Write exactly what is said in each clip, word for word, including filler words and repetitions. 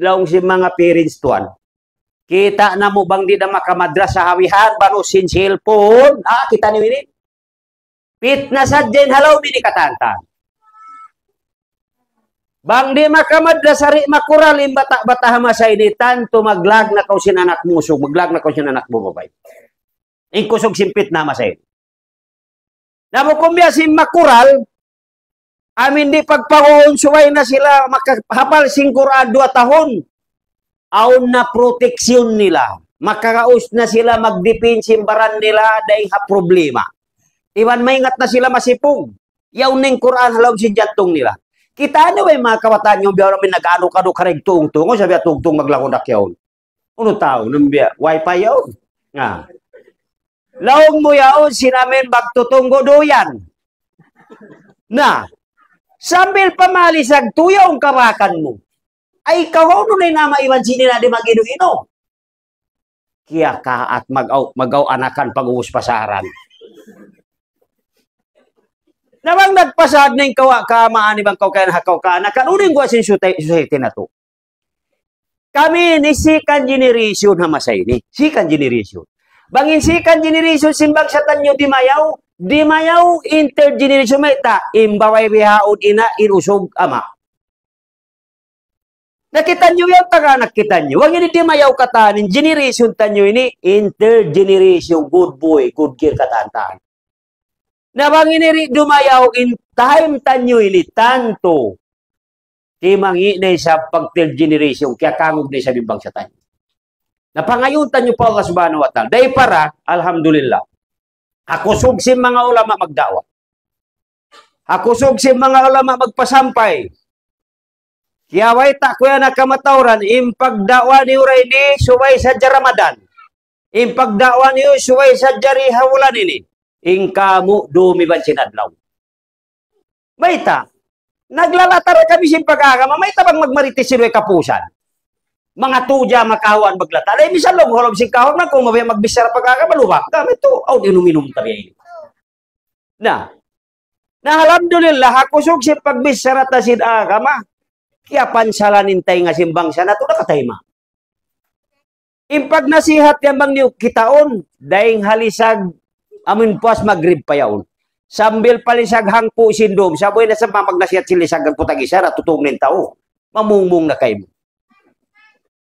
laung sin manga parents tuwan. Kita' namu' bang di' da makamadrasa ha bihan, bang sin cellphone. Ah, kita' niyu ini. Pitna sadja in halaum ini katantan. Bang di' makamadrasa di' makural in bata'-bata' ha masa ini, tantu maglag na kaw sin anak mu usug, maglag na kaw sin anak mu babai. In kusug sin pitna ha masa ini. Na bukun biya' sin makural, amin di' pagpaguun subay na sila makahapal sin Qur'an duwa tahun. Awn na proteksyon nila. Makagaus na sila magdipin sin baran nila dayn ha problema. Iban maingat na sila masipug. Yaun na in Qur'an ha lawm sin jantung nila. Kita' niyu ba in manga kabataan niyu biya' amin nag-anu-kadu kareg tungtung, o sabi tungtung maglakun dak yaun. Unu tau, nambiya', wifi yaun. Nga. Laung mu yaun, sin amin magtutunggu duyan. Na, sambil pamalisag tuyaw in kabakan mu. Ay, kaw, unu na in ama' iban sin ina' di' mag-inu-inu. Kiyakaat mag-aw, mag-aw anakan pag-ubus pasaran. Na bang nagpasad na in kawa' kaamaan iban kaw kayan ha kaw kaanakan, unu in guwa' sin society, society natu'. Kami ini second generation ha masa ini. Second generation. Bang in second generation sin bangsa taniyu dimayaw, dimayaw in third generation mayta', in babai bihaun ina', in usug ama'. Na kitaniyu yan, taga anak kitaniyu. Bang ini dimayaw katan, in generation taniyu ini, in third generation, good boy, good girl katan-katan. Na bang ini di' dumayaw in time taniyu ini tantu. Timangi' na isab pag third generation, kiyakangug na isab in bangsa taniyu. Na pangayuun taniyu pa Allah Subhanahu wa Ta'ala. Dayn para, alhamdulillah. Ha kusug sin manga ulama magda'wa. Ha kusug sin manga ulama magpasampay. Kiyabayta' ku yan ha kamatauran, in pagda'wa niyu ra ini, subay sadja Ramadan. In pagda'wa niyu, subay sadja di ha bulan ini. In kamu, dum iban sin adlaw. Mayta', naglalatar kami sin pag-agama, mayta' bang magmarites sin way kapusan. Manga tuja makawan maglata'. Dahil misan laung, ha lawm sin kawan na, kung mabiya' magbichara pag-agama, lubak kami tu, awn inum-inum tabi ini. Na, na alhamdulillah, ha kusug sin pagbichara ta sin agama, kiyapansalan in taynga sin bangsa natu' nakatayma'. In pagnasihat yan bang niyu kitaun, dayng ha lisag, amun puas magrib pa yaun. Sambil pa lisag hangpu' sin dum, sabuhay na sa magnasihat sin lisag hangpu' tag-isa, na tutung na in tau. Mamungmung na kaymu.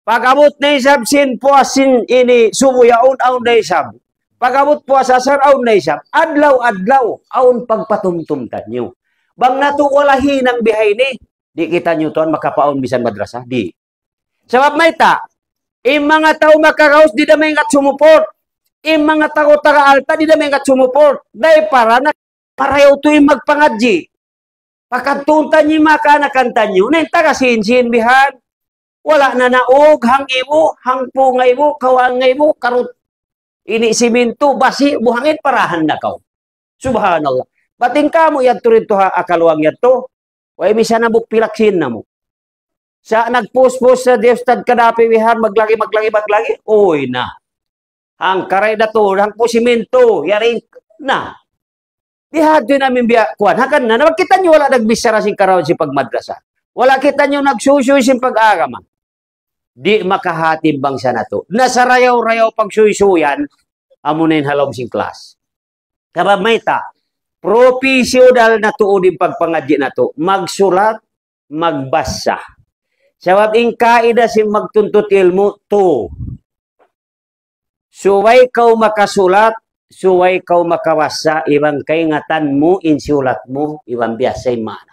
Pag-abut na isab sin puas sin ini subu yaun, awn na isab. Pag-abut puas asar, awn na isab. Adlaw-adlaw, awn pagpatumtum taniyu. Bang natu' wala' hinang bihaini, di' kitaniyu tuwan makapaun misan madrasa, di'. Sabab mayta', in manga tau makagaus di' da maingat sumuport. In manga tau taga alta' di' da maingat sumuport. Dayn para na marayaw tuud in magpangadji'. Pakadtuun taniyu in manga kaanakan taniyu. Na in taga sin-sin bihan. Wala' na naug, hangpu' ngaibu, hangpu' ngaibu, kawaan ngaibu, karut. Ini simintu, basi', buhangin, parahan na kaw. Subhanallah. Bat in kamu yadtu didtu ha Akaluang yadtu. Way misan hambuuk pilak sin namu'. Sa' nagpus-pus sa di ustad kadapi bihan, maglagi, maglagi, maglagi. Uy na. Hangkaray da tuud, hangpu' simintu, yari na. Di' hadtu in amin biya' kuwan. Hangkan na, na kitaniyu wala' nagbichara sin karayawan sin pagmadrasa. Wala' kitaniyu nagsuysuy sin pag-agama. Di' makahati in bangsa natu'. Na sarayaw-rayaw pagsuysuyan, amuna in ha lawm sin class. Sabab mayta', professional na tuud in pagpangadji' natu'. Magsulat, magbasa. Sabab in kaida sin magtuntut ilmu', tu. Subay kaw makasulat, subay kaw makabasa, iban kaingatan mu in sulat mu, iban biyasa in maana.